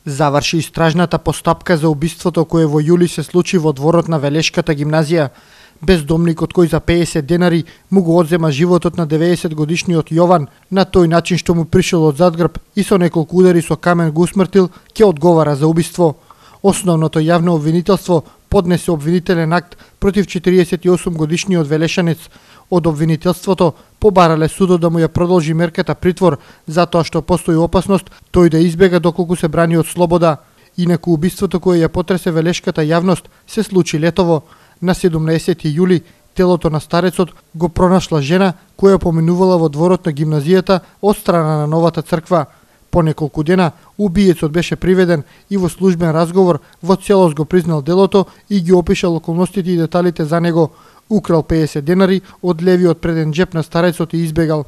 Заврши истражната постапка за убиството кое во јули се случи во дворот на Велешката гимназија. Бездомникот кој за 50 денари му го одзема животот на 90 годишниот Јован на тој начин што му пришол од задгрб и со неколку удари со камен го усмртил, ќе одговара за убиство. Основното јавно обвинителство поднесе обвинителен акт против 48 годишниот велешанец. Од обвинителството побарале судот да му ја продолжи мерката притвор затоа што постои опасност тој да избега доколку се брани од слобода. Инаку убиството кое ја потресе велешката јавност се случи летово. На 17 јули телото на старецот го пронашла жена која поминувала во дворот на гимназијата од страна на новата црква. По неколку дена убиецот беше приведен и во службен разговор во целост го признал делото и ги опишал околностите и деталите за него. Украл 50 денари од левиот преден джеп на старецот и избегал.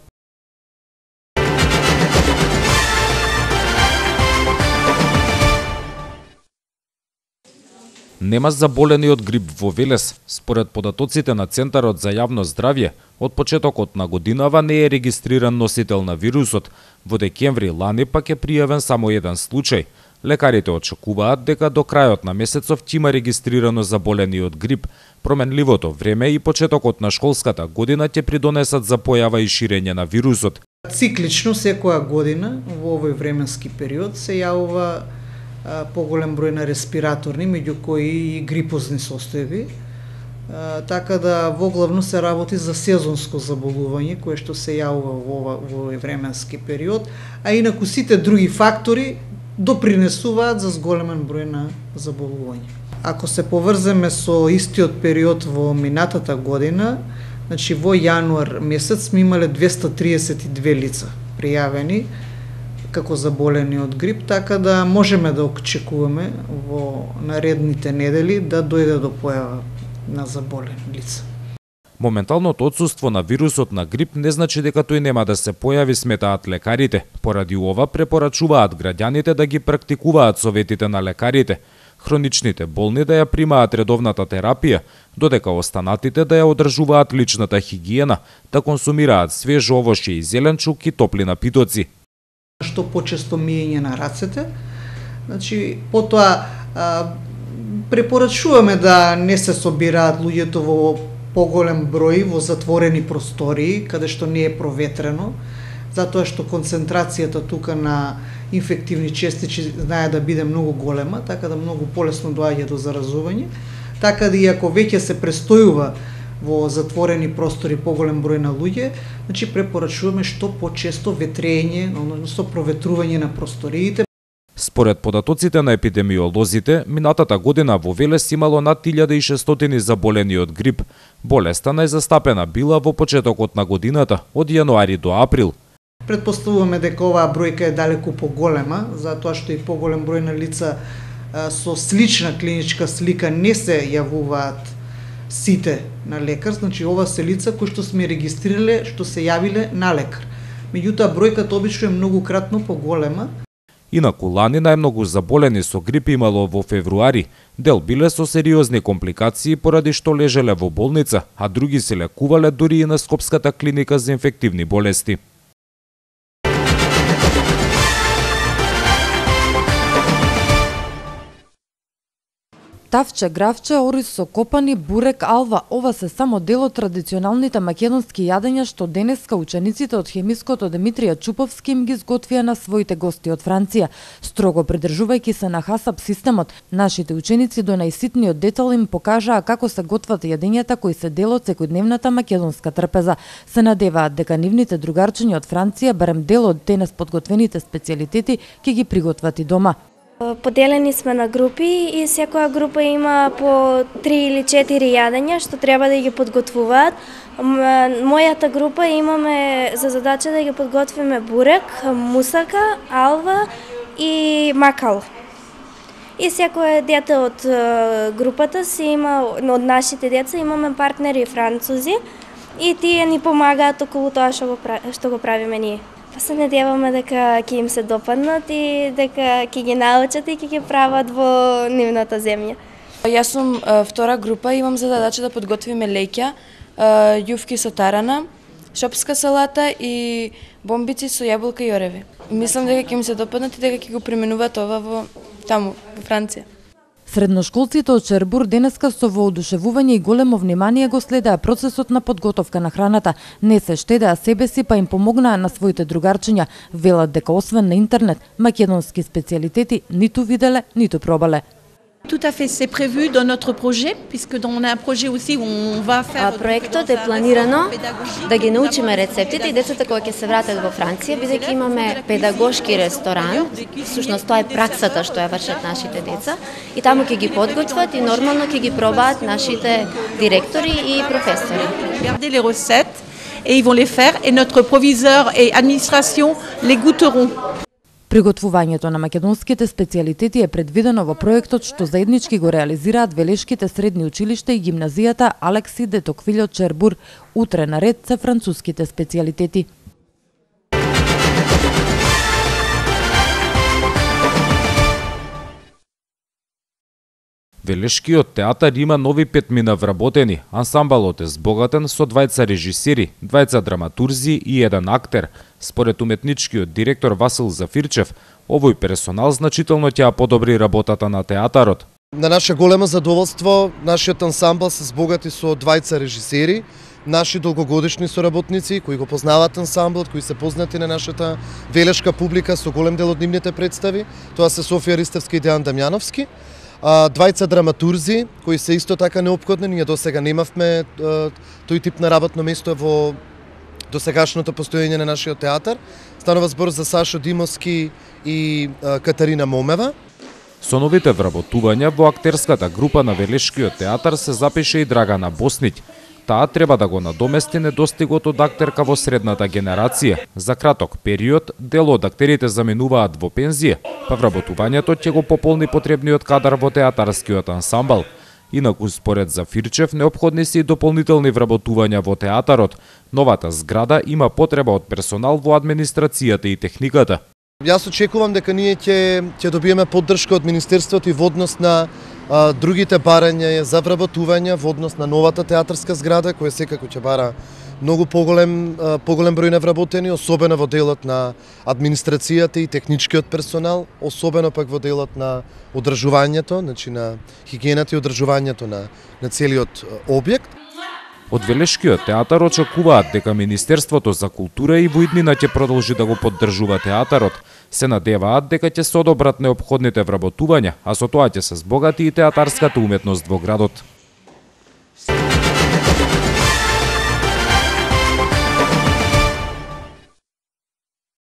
Нема заболени од грип во Велес. Според податоците на Центарот за јавно здравје, од почетокот на годинава не е регистриран носител на вирусот. Во декември лани пак е пријавен само еден случај. Лекарите очекуваат дека до крајот на месецов ќе има регистрирано заболени од грип. Променливото време и почетокот на школската година ќе придонесат за појава и ширење на вирусот. Циклично секоја година во овој временски период се јавува поголем број на респираторни, меѓу кои и грипозни состојби. Така да воглавно се работи за сезонско заболување кое што се јавува во овој временски период, а инаку сите други фактори допринесуваат за зголемен број на заболување. Ако се поврземе со истиот период во минатата година, значи во јануар месец сме имале 232 лица пријавени како заболени од грип, така да можеме да очекуваме во наредните недели да дојде до појава на заболени лица. Моменталното отсуство на вирусот на грип не значи дека тој нема да се појави, сметаат лекарите. Поради ова препорачуваат граѓаните да ги практикуваат советите на лекарите. Хроничните болни да ја примаат редовната терапија, додека останатите да ја одржуваат личната хигиена, да консумираат свеж овошје и зеленчук и топли напитоци. Што почесто миење на рацете, значи потоа препорачуваме да не се собираат луѓето во поголем број во затворени простории, каде што не е проветрено, затоа што концентрацијата тука на инфективни честичи знае да биде многу голема, така да многу полесно доаѓа до заразување. Така да и ако веќе се престојува во затворени простори поголем број на луѓе, значи препорачуваме што почесто ветрење, односно проветрување на просториите. Според податоците на епидемиолозите, минатата година во Велес имало над 1600 заболени од грип. Болеста најзастапена била во почетокот на годината, од јануари до април. Предпоставуваме дека оваа бројка е далеку поголема, затоа што и поголем број на лица со слична клиничка слика не се јавуваат сите на лекар, значи ова се лица кои што сме регистрирале, што се јавиле на лекар. Меѓутоа бројката обично е многу кратно поголема. Инаку лани најмногу заболени со грип имало во февруари. Дел биле со сериозни компликации поради што лежеле во болница, а други се лекувале дури и на Скопската клиника за инфективни болести. Тавче, гравче, орис со копани, бурек, алва, ова се само дел од традиционалните македонски јадења што денеска учениците од хемиското Димитрија Чуповски им ги изготвија на своите гости од Франција. Строго придржувајќи се на хасап системот, нашите ученици до најситниот детал им покажаа како се готват јадењата кои се дел од секојдневната македонска трпеза. Се надеваат дека нивните другарчиња од Франција, барем дел од денес подготвените специјалитети, ќе ги приготват и дома. Поделени сме на групи и секоја група има по 3 или 4 јадења што треба да ги подготвуваат. Мојата група имаме за задача да ги подготвиме бурек, мусака, алва и макал. И секој дете од групата си има, од нашите деца имаме партнери французи и тие ни помагаат околу тоа што го правиме ние. Се надеваме дека ќе им се допаднат и дека ќе ги научат и ќе ги прават во нивната земја. Јас сум втора група, имам задача да подготвиме леќа, јуфки со тарана, шопска салата и бомбици со јаболка и ореви. Мислам дека ќе им се допаднат и дека ќе го применуваат ова во таму во Франција. Средношколците од Чербур денеска со воодушевување и големо внимание го следеа процесот на подготовка на храната. Не се штедеа себе си, па им помогнаа на своите другарчиња. Велат дека освен на интернет, македонски специјалитети ниту виделе, ниту пробале. Tout à fait, c'est prévu dans notre projet, puisque on a un projet aussi où on va faire... Проектот е планирано да ги научиме рецептите и децата кога ќе се вратат во Франција, бидејќи имаме педагошки ресторан, всушност тоа е праксата што ја вршат нашите деца, и таму ќе ги подготват и нормално ќе ги пробаат нашите директори и професори. Garder les recettes et ils vont les faire et notre proviseur et administration les goûteront. Приготвувањето на македонските специјалитети е предвидено во проектот што заеднички го реализираат Велешките средни училишта и гимназијата Алекси де Токвилје од Чербур. Утре на ред се француските специјалитети. Велешкиот театар има нови 5 мина вработени. Ансамблот е збогатен со 2 режисери, 2 драматурзи и 1 актер. Според уметничкиот директор Васил Зафирчев, овој персонал значително ќе подобри работата на театарот. На наше големо задоволство, нашиот ансамбл се збогати со 2 режисери, наши долгогодишни соработници кои го познаваат ансамблот, кои се познати на нашата велешка публика со голем дел од нивните представи. Тоа се Софија Ристевска и Дејан Дамјановски. 2 драматурзи кои се исто така неопходни. Ние досега немавме тој тип на работно место во досегашното постоење на нашиот театар. Станува збор за Сашо Димовски и Катарина Момева. Со новите вработувања во актерската група на Велешкиот театар се запише и Драгана Босниќ. Таа треба да го надомести недостигот од актерка во средната генерација. За краток период, дел од актерите заминуваат во пензија, па вработувањето ќе го пополни потребниот кадар во театарскиот ансамбл. Инаку, според Зафирчев, неопходни се и дополнителни вработувања во театарот. Новата зграда има потреба од персонал во администрацијата и техниката. Јас очекувам дека ние ќе добиеме поддршка од Министерството и во однос на другите барања за вработување во однос на новата театарска зграда, која секако ќе бара многу поголем број на вработени, особено во делот на администрацијата и техничкиот персонал, особено пак во делот на одржувањето, значи на хигиената и одржувањето на целиот објект. Од Велешкиот театар очекуваат дека Министерството за култура и во иднина ќе продолжи да го поддржува театарот. Се надеваат дека ќе се одобрат неопходните вработувања, а со тоа ќе се збогати и театарската уметност во градот.